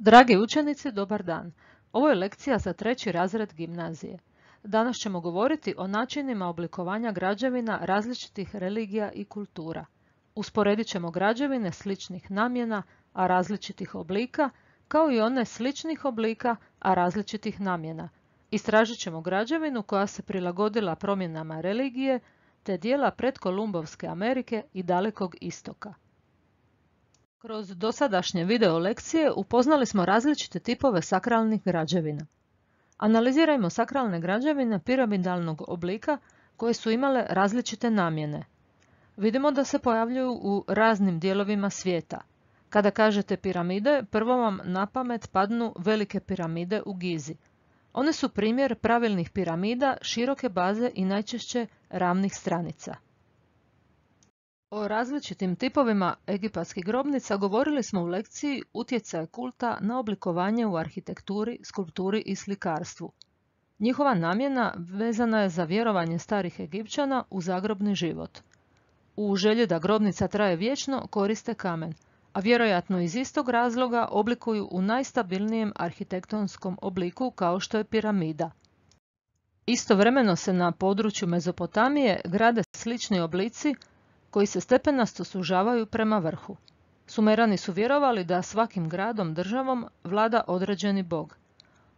Dragi učenici, dobar dan. Ovo je lekcija za 3. razred gimnazije. Danas ćemo govoriti o načinima oblikovanja građevina različitih religija i kultura. Usporedit ćemo građevine sličnih namjena, a različitih oblika, kao i one sličnih oblika, a različitih namjena. Istražit ćemo građevinu koja se prilagodila promjenama religije, te dijela predkolumbovske Amerike i Dalekog istoka. Kroz dosadašnje video lekcije upoznali smo različite tipove sakralnih građevina. Analizirajmo sakralne građevine piramidalnog oblika koje su imale različite namjene. Vidimo da se pojavljuju u raznim dijelovima svijeta. Kada kažete piramide, prvo vam na pamet padnu velike piramide u Gizi. One su primjer pravilnih piramida, široke baze i najčešće ravnih stranica. O različitim tipovima egipatskih grobnica govorili smo u lekciji Utjecaj kulta na oblikovanje u arhitekturi, skulpturi i slikarstvu. Njihova namjena vezana je za vjerovanje starih Egipćana u zagrobni život. U želji da grobnica traje vječno koriste kamen, a vjerojatno iz istog razloga oblikuju u najstabilnijem arhitektonskom obliku kao što je piramida. Istovremeno se na području Mezopotamije grade slični oblici koji se stepenasto sužavaju prema vrhu. Sumerani su vjerovali da svakim gradom, državom vlada određeni bog.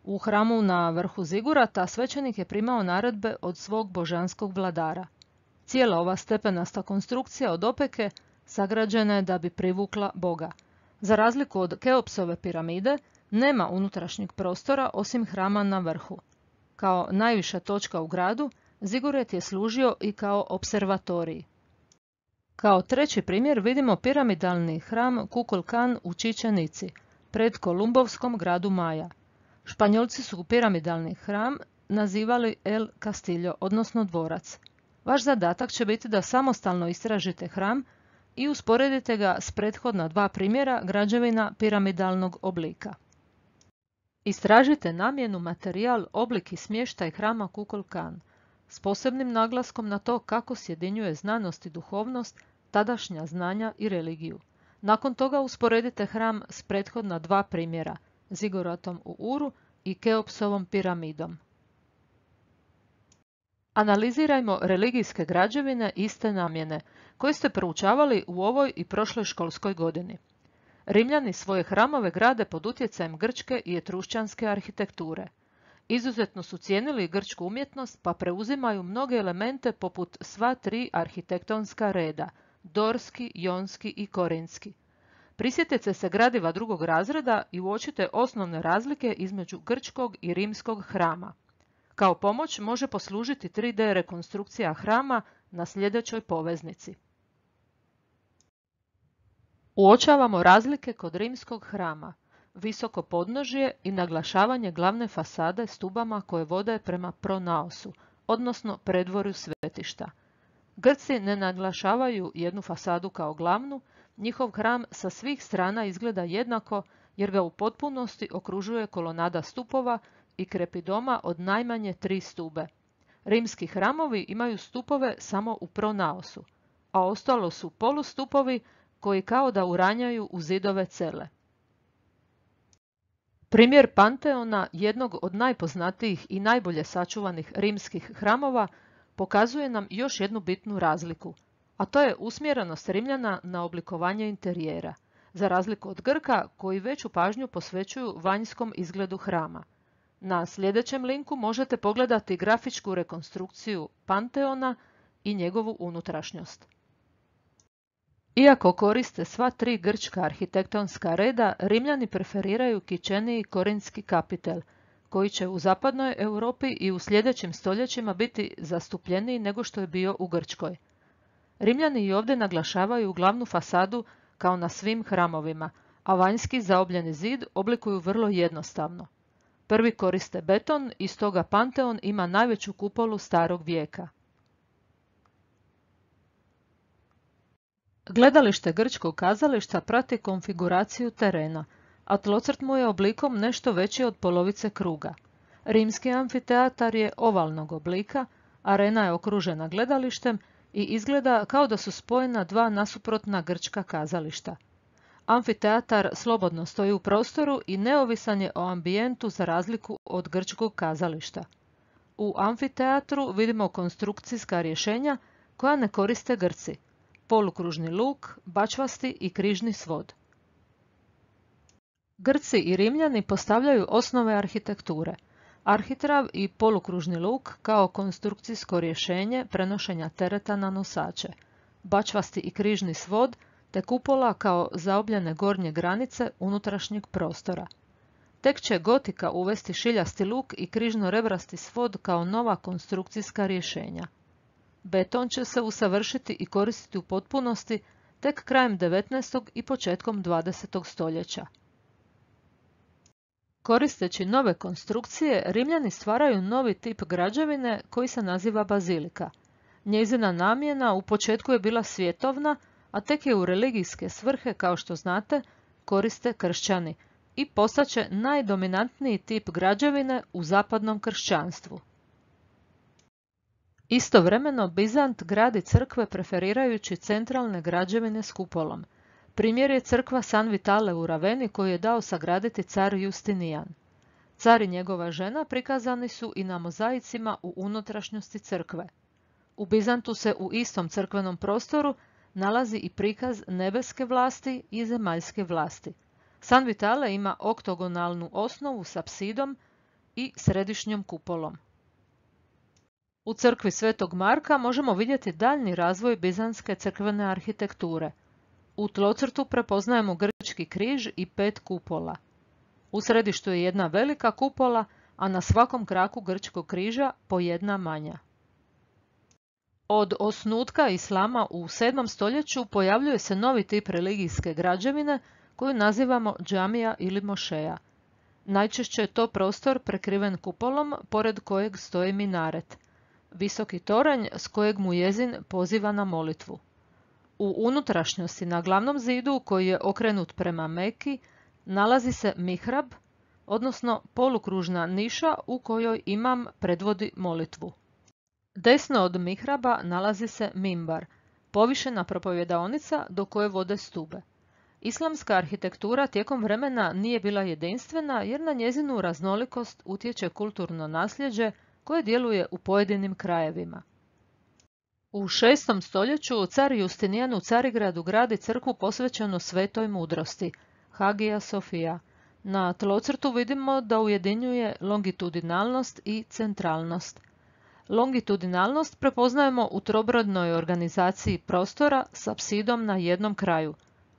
U hramu na vrhu Zigurata svećenik je primao naredbe od svog božanskog vladara. Cijela ova stepenasta konstrukcija od opeke sagrađena je da bi privukla boga. Za razliku od Keopsove piramide, nema unutrašnjeg prostora osim hrama na vrhu. Kao najviša točka u gradu, Zigurat je služio i kao opservatorij. Kao treći primjer vidimo piramidalni hram Kukulkan u Čičenici, pred kolumbovskom gradu Maja. Španjolci su piramidalni hram nazivali El Castillo, odnosno dvorac. Vaš zadatak će biti da samostalno istražite hram i usporedite ga s prethodna dva primjera građevina piramidalnog oblika. Istražite namjenu, materijal, oblik i smještaj hrama Kukulkan, s posebnim naglaskom na to kako sjedinjuje znanost i duhovnost, tadašnja znanja i religiju. Nakon toga usporedite hram s prethodna dva primjera, Ziguratom u Uru i Keopsovom piramidom. Analizirajmo religijske građevine iste namjene, koje ste proučavali u ovoj i prošloj školskoj godini. Rimljani svoje hramove grade pod utjecajem grčke i etrušćanske arhitekture. Izuzetno su cijenili grčku umjetnost pa preuzimaju mnoge elemente poput sva tri arhitektonska reda, dorski, jonski i korinski. Prisjetite se gradiva drugog razreda i uočite osnovne razlike između grčkog i rimskog hrama. Kao pomoć može poslužiti 3D rekonstrukcija hrama na sljedećoj poveznici. Uočavamo razlike kod rimskog hrama, visoko podnožje i naglašavanje glavne fasade stubama koje vode prema pronaosu, odnosno predvorju svetišta. Grci ne naglašavaju jednu fasadu kao glavnu, njihov hram sa svih strana izgleda jednako jer ga u potpunosti okružuje kolonada stupova i krepidoma od najmanje 3 stube. Rimski hramovi imaju stupove samo u pronaosu, a ostalo su polustupovi koji kao da uranjaju u zidove cele. Primjer Panteona, jednog od najpoznatijih i najbolje sačuvanih rimskih hramova, pokazuje nam još jednu bitnu razliku, a to je usmjerenost Rimljana na oblikovanje interijera, za razliku od Grka koji veću pažnju posvećuju vanjskom izgledu hrama. Na sljedećem linku možete pogledati grafičku rekonstrukciju Panteona i njegovu unutrašnjost. Iako koriste sva tri grčka arhitektonska reda, Rimljani preferiraju kičeniji korinski kapitel, koji će u zapadnoj Europi i u sljedećim stoljećima biti zastupljeniji nego što je bio u Grčkoj. Rimljani i ovdje naglašavaju glavnu fasadu kao na svim hramovima, a vanjski zaobljeni zid oblikuju vrlo jednostavno. Prvi koriste beton i stoga Panteon ima najveću kupolu starog vijeka. Gledalište grčkog kazališta prati konfiguraciju terena, a tlocrt mu je oblikom nešto veći od polovice kruga. Rimski amfiteatar je ovalnog oblika, arena je okružena gledalištem i izgleda kao da su spojena dva nasuprotna grčka kazališta. Amfiteatar slobodno stoji u prostoru i neovisan je o ambijentu za razliku od grčkog kazališta. U amfiteatru vidimo konstrukcijska rješenja koja ne koriste Grci: polukružni luk, bačvasti i križni svod. Grci i Rimljani postavljaju osnove arhitekture: arhitrav i polukružni luk kao konstrukcijsko rješenje prenošenja tereta na nosače, bačvasti i križni svod te kupola kao zaobljene gornje granice unutrašnjeg prostora. Tek će gotika uvesti šiljasti luk i križno-rebrasti svod kao nova konstrukcijska rješenja. Beton će se usavršiti i koristiti u potpunosti tek krajem 19. i početkom 20. stoljeća. Koristeći nove konstrukcije, Rimljani stvaraju novi tip građevine koji se naziva bazilika. Njezina namjena u početku je bila svjetovna, a tek je u religijske svrhe, kao što znate, koriste kršćani i postaće najdominantniji tip građevine u zapadnom kršćanstvu. Istovremeno, Bizant gradi crkve preferirajući centralne građevine s kupolom. Primjer je crkva San Vitale u Raveni koju je dao sagraditi car Justinijan. Car i njegova žena prikazani su i na mozaicima u unutrašnjosti crkve. U Bizantu se u istom crkvenom prostoru nalazi i prikaz nebeske vlasti i zemaljske vlasti. San Vitale ima oktogonalnu osnovu s apsidom i središnjom kupolom. U crkvi Svetog Marka možemo vidjeti daljnji razvoj bizantske crkvene arhitekture. U tlocrtu prepoznajemo grčki križ i 5 kupola. U središtu je jedna velika kupola, a na svakom kraku grčkog križa po jedna manja. Od osnutka islama u 7. stoljeću pojavljuje se novi tip religijske građevine koju nazivamo džamija ili mošeja. Najčešće je to prostor prekriven kupolom pored kojeg stoji minaret, visoki toranj s kojeg muezin poziva na molitvu. U unutrašnjosti na glavnom zidu, koji je okrenut prema Meki, nalazi se mihrab, odnosno polukružna niša u kojoj imam predvodi molitvu. Desno od mihraba nalazi se mimbar, povišena propovjedaonica do koje vode stube. Islamska arhitektura tijekom vremena nije bila jedinstvena jer na njezinu raznolikost utječe kulturno nasljeđe koje djeluje u pojedinim krajevima. U 6. stoljeću car Justinijan u Carigradu gradi crkvu posvećenu svetoj mudrosti, Hagia Sofia. Na tlocrtu vidimo da ujedinjuje longitudinalnost i centralnost. Longitudinalnost prepoznajemo u trobrodnoj organizaciji prostora s apsidom na jednom kraju,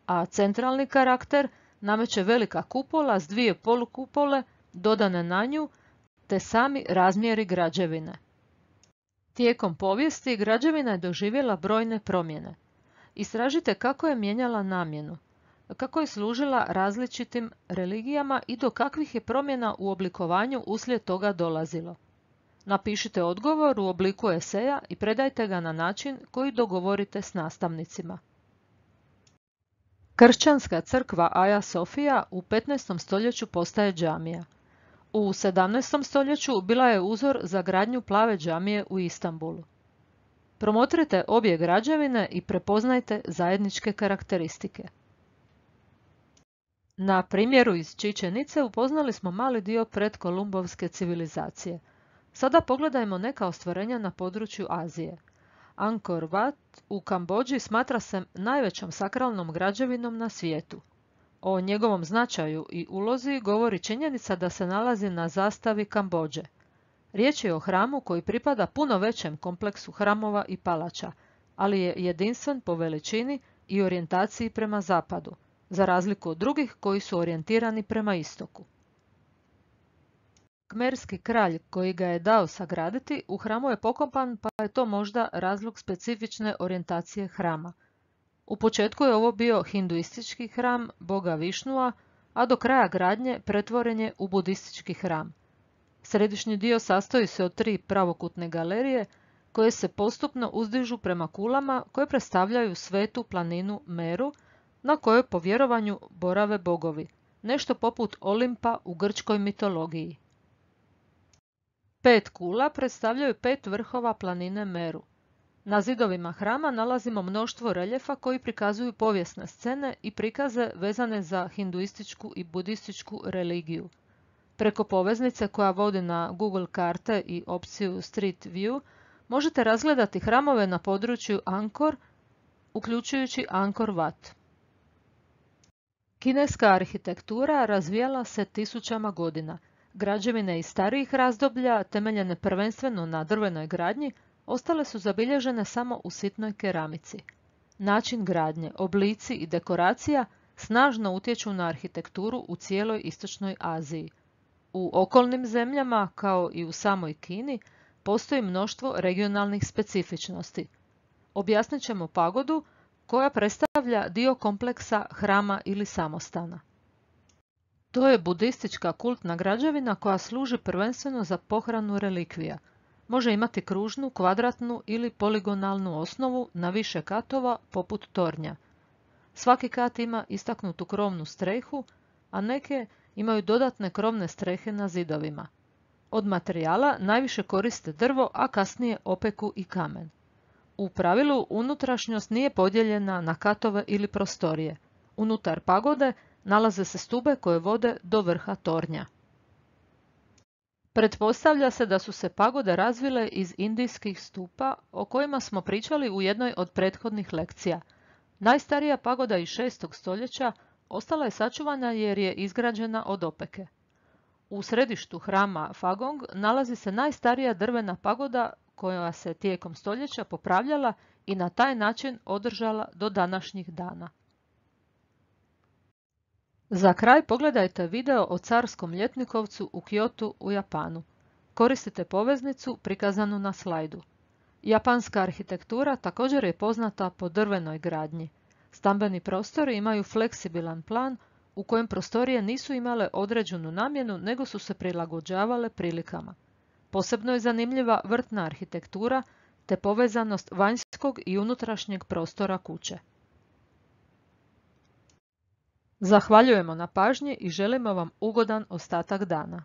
a centralni karakter nameće velika kupola s 2 polukupole dodane na nju, te sami razmjeri građevine. Tijekom povijesti građevina je doživjela brojne promjene. Istražite kako je mijenjala namjenu, kako je služila različitim religijama i do kakvih je promjena u oblikovanju uslijed toga dolazilo. Napišite odgovor u obliku eseja i predajte ga na način koji dogovorite s nastavnicima. Kršćanska crkva Aja Sofija u 15. stoljeću postaje džamija. U 17. stoljeću bila je uzor za gradnju plave džamije u Istanbulu. Promotrite obje građevine i prepoznajte zajedničke karakteristike. Na primjeru iz Čičenice upoznali smo mali dio predkolumbovske civilizacije. Sada pogledajmo neka ostvarenja na području Azije. Angkor Wat u Kambodži smatra se najvećom sakralnom građevinom na svijetu. O njegovom značaju i ulozi govori činjenica da se nalazi na zastavi Kambodže. Riječ je o hramu koji pripada puno većem kompleksu hramova i palača, ali je jedinstven po veličini i orijentaciji prema zapadu, za razliku od drugih koji su orijentirani prema istoku. Kmerski kralj koji ga je dao sagraditi u hramu je pokopan, pa je to možda razlog specifične orijentacije hrama. U početku je ovo bio hinduistički hram boga Višnua, a do kraja gradnje pretvoren je u budistički hram. Središnji dio sastoji se od 3 pravokutne galerije koje se postupno uzdižu prema kulama koje predstavljaju svetu planinu Meru na kojoj po vjerovanju borave bogovi, nešto poput Olimpa u grčkoj mitologiji. 5 kula predstavljaju 5 vrhova planine Meru. Na zidovima hrama nalazimo mnoštvo reljefa koji prikazuju povijesne scene i prikaze vezane za hinduističku i budističku religiju. Preko poveznice koja vodi na Google karte i opciju Street View možete razgledati hramove na području Angkor, uključujući Angkor Wat. Kineska arhitektura razvijala se tisućama godina. Građevine iz starijih razdoblja, temeljene prvenstveno na drvenoj gradnji, ostale su zabilježene samo u sitnoj keramici. Način gradnje, oblici i dekoracija snažno utječu na arhitekturu u cijeloj istočnoj Aziji. U okolnim zemljama, kao i u samoj Kini, postoji mnoštvo regionalnih specifičnosti. Objasnit ćemo pagodu, koja predstavlja dio kompleksa hrama ili samostana. To je budistička kultna građevina koja služi prvenstveno za pohranu relikvija. Može imati kružnu, kvadratnu ili poligonalnu osnovu na više katova poput tornja. Svaki kat ima istaknutu krovnu strehu, a neke imaju dodatne krovne strehe na zidovima. Od materijala najviše koriste drvo, a kasnije opeku i kamen. U pravilu unutrašnjost nije podijeljena na katove ili prostorije. Unutar pagode nalaze se stube koje vode do vrha tornja. Pretpostavlja se da su se pagode razvile iz indijskih stupa o kojima smo pričali u jednoj od prethodnih lekcija. Najstarija pagoda iz 6. stoljeća ostala je sačuvana jer je izgrađena od opeke. U središtu hrama Phagong nalazi se najstarija drvena pagoda koja se tijekom stoljeća popravljala i na taj način održala do današnjih dana. Za kraj pogledajte video o carskom ljetnikovcu u Kyotu u Japanu. Koristite poveznicu prikazanu na slajdu. Japanska arhitektura također je poznata po drvenoj gradnji. Stambeni prostori imaju fleksibilan plan u kojem prostorije nisu imale određenu namjenu nego su se prilagođavale prilikama. Posebno je zanimljiva vrtna arhitektura te povezanost vanjskog i unutrašnjeg prostora kuće. Zahvaljujemo na pažnji i želimo vam ugodan ostatak dana.